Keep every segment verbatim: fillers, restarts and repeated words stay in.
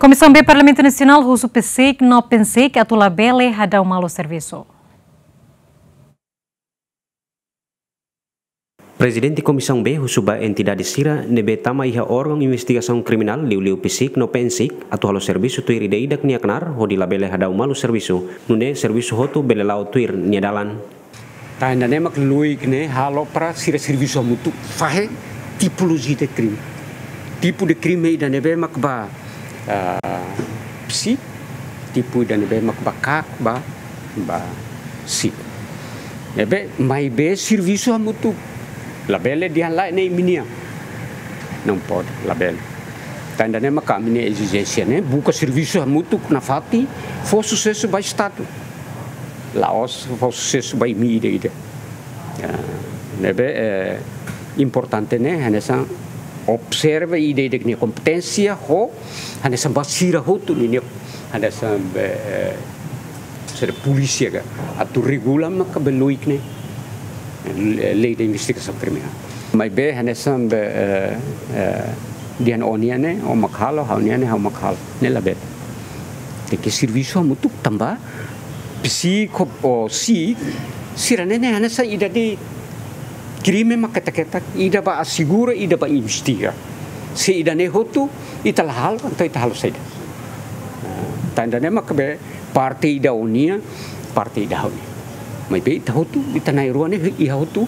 Komisaun B Parlamentu Nasionál husu PCIC no PNCIC atu labele hadau malu servisu. Prezidente Komisaun B husu ba entidade sira ne'ebé tama iha órgaun investigasaun kriminál, liuliu PCIC no PNCIC, atu halo servisu tuir ida-idak nia knaar hodi labele hadau malu servisu, nune'e servisu hotu bele la'o tuir nia dalan. Tan ida-ne'e mak loik ne'e halo para sira servisu hamutuk fahe tipolojia de krime. Tipu de krime ida ne'ebé mak ba, ah, PCIC, tipu ida ne'ebé mak ba KAK, ba, ba PCIC. Ne'ebé, maibé servisu hamutuk. Labele dehan lae ne'e imi-nian. Não pode, labele. Tan ida-ne'e mak ami-nia ezijénsia ne'e, buka servisu hamutuk nafatin, fó susesu ba Estadu. La'ós fó susesu ba imi ida-idak. Ya, ne'ebé, eh, importante ne'e, hanesan observa ida-idak nia kompeténsia, ho, hanesan ba sira hotu ninia, hanesan be, eh, sira polísia ka, atu regula maka be loik ne'e, eh, lei de investigasaun kriminál. Maibé, hanesan be, eh, eh, dehan ó-nian ne'e, ó mak halo, ha'u-nian ne'e, ha'u mak halo. Ne'e labele. Tenke servisu hamutuk tanba, PCIC ho PCIC, sira-ne'e ne'e hanesan ida de'it, krime mak ketak-ketak, ida ba asegura, ida ba investiga. Se ida-ne'e hotu, ita la halo, entaun ita halo saida. Ah, tan ida-ne'e mak be parte ida ó-nian, parte ida ha'u-nian. Maibé ita hotu, ita na'in-rua ne'e iha hotu,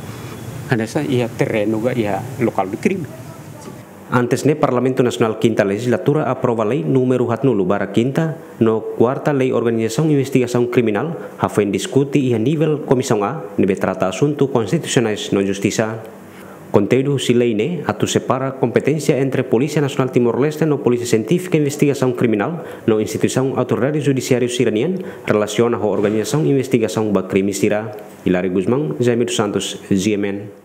hanesan iha terrenu ka iha local de crime. Antes ne'e, Parlamentu Nasionál kinta lejizlatura aprova lei númeru haatnulu barra kinta no kuarta lei organizasaun investigasaun kriminál, hafoin diskute iha nivel Komisaun A, ne'ebé trata asuntu konstitusionais no justisa. Konteúdu husi lei ne'e atu separa kompeténsia entre Polísia Nasionál Timor-Leste no Polísia Sientífika Investigasaun Kriminál no instituisaun autoridade judisiáriu sira-nian relasiona ho organizasaun investigasaun ba krime sira. Hilario Gusmão, Jaime dos Santos, G M N.